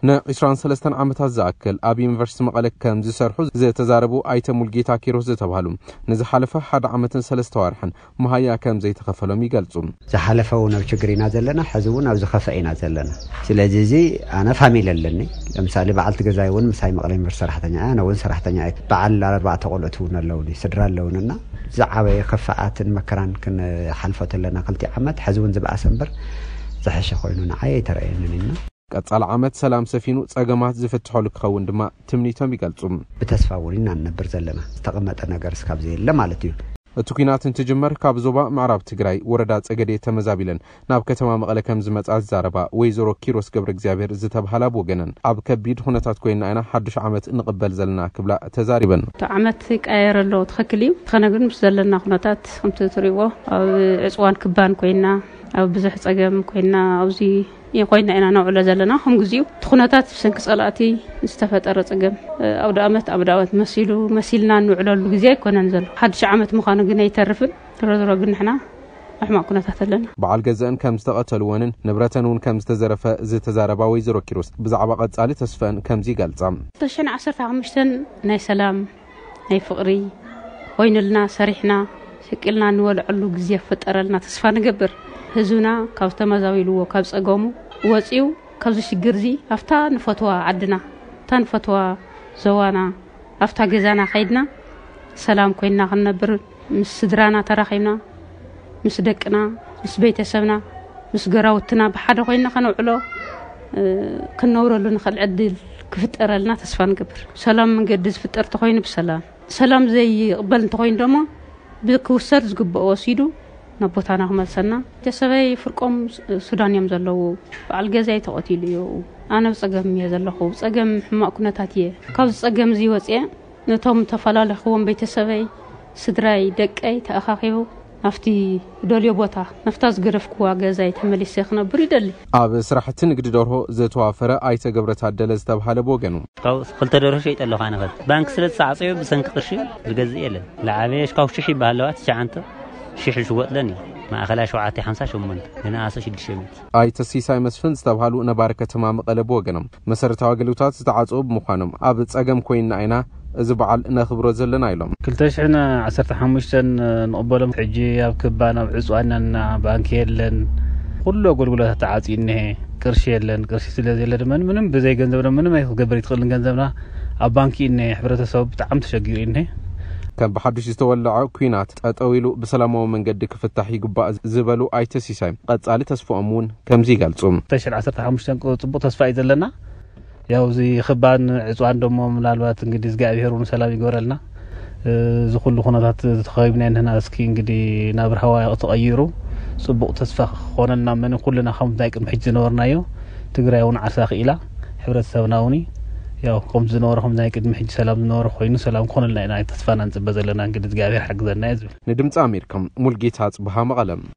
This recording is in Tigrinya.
ን23 ዓመታት ዝኣክል ኣብ ዩኒቨርሲቲ መቐለ ከም ዝሰርሑ ዝተዛረቡ ኣይተ ሙልጌታ ኪሮስ ዝተባህሉ፣ ንዝሓለፈ ሓደ ዓመትን ሰለስተ ዋርሕን መሃያ ከም ዘይተኸፈሎም ይገልጹ። ዝሓለፈ እውን ኣብ ችግር ኢና ዘለና፣ ሕዚ እውን ኣብ ዝኸፍአ ኢና ዘለና። ስለዚ እዚ ኣነ ፋሚሊ ኣለኒ። ለምሳሌ በዓልቲ ገዛይ እውን ምሳይ መቐለ ዩኒቨርሲቲ ሰራሕተኛ እያ፣ ኣነ እውን ሰራሕተኛ እየ። በዓል ኣርባዕተ ቆልዑት እውን ኣለውኒ፣ ስድራ ኣለውንና ዝዓበየ ክፍኣትን መከራን ክንሓልፎ ተለና ክልቲ ዓመት፣ ሕዚ እውን ዝበኣሰ እምበር ዝሐሸ ኮይኑ ንዓይ ኣይተረእየንን ኢና። ቀጻሊ ዓመት ሰላም ሰፊኑ ጸገማት ዝፍትሐሉ ክኸውን ድማ ትምኒቶም ይገልጹ። ብተስፋ እውን ኢና ንነብር ዘለና፣ ዝተቐመጠ ነገር እስካብ ዘየለ ማለት እዩ። እቲ ኲናት እንትጅመር ካብ ዞባ ምዕራብ ትግራይ ወረዳ ጸገዴ ተመዛቢለን ናብ ከተማ መቐለ ከም ዝመጻ ዝዛረባ ወይዘሮ ኪሮስ ገብረ እግዚኣብሔር ዝተብሃላ ብወገነን፣ ኣብ ከቢድ ኩነታት ኮይና ኢና ሓዱሽ ዓመት ንቕበል ዘለና ክብላ ተዛሪበን። እቲ ዓመት ይቀያየር ኣሎ፣ ትኽክል እዩ። እንተኾነ ግን ምስ ዘለና ኩነታት ከምቲ ትሪእዎ ኣብ ዕፅዋን ክባን ኮይና፣ ኣብ ብዙሕ ጸገም ኮይና፣ ኣብዚ ኮይና ኢና ነውዕሎ ዘለና። ከም ግዚኡ እቲ ኩነታት ብሰንኪ ጸላእቲ ዝተፈጠረ ጸገም፣ ኣውደ ዓመት ኣውደ ዓመት መሲሉ መሲልና እንውዕለሉ ግዜ ኣይኮነን ዘሎ። ሓድሽ ዓመት ምዃኑ ግን ኣይተርፍን። ዞሮ ዞሮ ግን ንሕና ኣብ ሕማቕ ኩነታት ኣለና። በዓል ገዘአን ከም ዝተቐተልወንን ንብረተን እውን ከም ዝተዘረፈ ዝተዛረባ ወይዘሮ ኪሮስ፣ ብዛዕባ ቀጻሊ ተስፈአን ከምዚ ይገልጻ። 2015 ናይ ሰላም፣ ናይ ፍቕሪ ኮይኑልና፣ ሰሪሕና ሸቂልና እንበልዐሉ ግዜ ክፍጠረልና ተስፋ ንገብር። ህዝብና ካብ ዝተመዛቢልዎ ካብ ጸገሙ ወጺኡ ካብዚ ሽግር እዚ ኣብታ ንፈትዋ ዓድና፣ ኣብታ ንፈትዋ ዞባና፣ ኣብታ ገዛና ከይድና ሰላም ኮይንና ክንነብር፣ ምስ ስድራና ተራኺብና፣ ምስ ደቅና፣ ምስ ቤተሰብና፣ ምስ ገራውትና ብሓደ ኮይንና ከነውዕሎ፣ እ፣ ክንነብረሉ ንኽእል ዕድል ክፍጠረልና ተስፋ ንገብር። ሰላም መንገዲ ዝፍጠር ተኾይኑ ብሰላም፣ ሰላም ዘይቕበል እንተኾይኑ ደሞ ብክውሰድ ዝግብኦ ወሲዱ ናብ ቦታና ክመልሰና። ቤተሰበይ ፍርቆም ሱዳን እዮም ዘለዉ። በዓል ገዛይ ተቐቲሉ እዩ። ኣነ ብጸገም እየ ዘለኹ። ብጸገም ሕማቕ ኩነታት እየ። ካብዚ ጸገም እዚ ወጽየ ነቶም ተፈላለኽዎም ቤተሰበይ፣ ስድራይ፣ ደቀይ ተኣኻኺቡ ናብቲ ደልዮ ቦታ፣ ናብታ ዝገደፍክዋ ገዛይ ተመሊሰ ክነብር ይደሊ። ኣብ ስራሕቲ ንግዲ ደርሆ ዝተዋፈረ ኣይተ ገብረ ታደለ ዝተብሃለ ብወገኑ፣ ካብ ክልተ ደርሆ ሸይጠ ኣለኹ። ኣነ ኸዚ ባንክ ስለ ዝተዓጸዮ ብሰንኪ ቅርሺ ዝገዝእ የለን። ዝዓበየ ሽካው ሽሕ ይበሃል ኣለዋ፣ ትሽዓንተ ሽሕ ዝሽወጥለን እዩ። ማእኸላይ ሸውዓተ ሓምሳ ሸሞንተ፣ ዝነኣሰ ሽዱሽተ ሚእቲ። ኣይተ ሲሳይ መስፍን ዝተብሃሉ ነባሪ ከተማ መቐለ ብወገኖም፣ መሰረታዊ ኣገልግሎታት ዝተዓጽኡ ብምዃኖም ኣብ ጸገም ኮይንና ኢና እዚ በዓል ነኽብሮ ዘለና ኢሎም። ክልተ ሽሕን ዓሰርተ ሓሙሽተን ንቕበሎም። ሕጂ ኣብ ክባን ኣብ ዕፅዋን ኢና፣ ባንኪ የለን። ኩሉ ኣገልግሎታት ተዓፅዩ እኒሀ። ቅርሺ የለን። ቅርሺ ስለ ዘየለ ድማ ምንም ብዘይ ገንዘብና ምንም ኣይክትገብር ኣይትኽእልን። ገንዘብና ኣብ ባንኪ እኒሀ። ሕብረተሰቡ ብጣዕሚ ተሸጊሩ እኒሀ። ከም ብሓዱሽ ዝተወለዐ ኲናት ጠጠው ኢሉ ብሰላማዊ መንገዲ ክፍታሕ ይግባእ ዝበሉ ኣይተ ሲሳይ፣ ቀጻሊ ተስፍኦም እውን ከምዚ ይገልጹ። ክልተ ሽሕን ዓሰርተ ሓሙሽተን ጽቡቕ ተስፋ እዩ ዘለና። ያው እዚ ክባን ዕፅዋን ደሞ ምናልባት እንግዲህ እግዚኣብሔር እውን ሰላም ይግበረልና። እ፣ እዚ ኩሉ ኩነታት ተኸቢብና እንህና እስኪ እንግዲህ ናብ ራህዋ ተቐይሩ ጽቡቕ ተስፋ ክኾነልና መን ኩልና ከምቲ ናይ ቅድሚ ሕጂ ዝነበርናዮ ትግራይ እውን ዓርሳ ክኢላ ሕብረተሰብና እውን ያው ከምቲ ዝነበረ ከምቲ ናይ ቅድሚ ሕጂ ሰላም ዝነበረ ኮይኑ ሰላም ክኾነልና ኢና ተስፋና ንጽበ ዘለና። እንግዲህ እግዚኣብሔር ሓግዘና እዩ ዝብል። ንድምፂ ኣሜሪካ ሙልጌታ ጽብሃ መቐለ።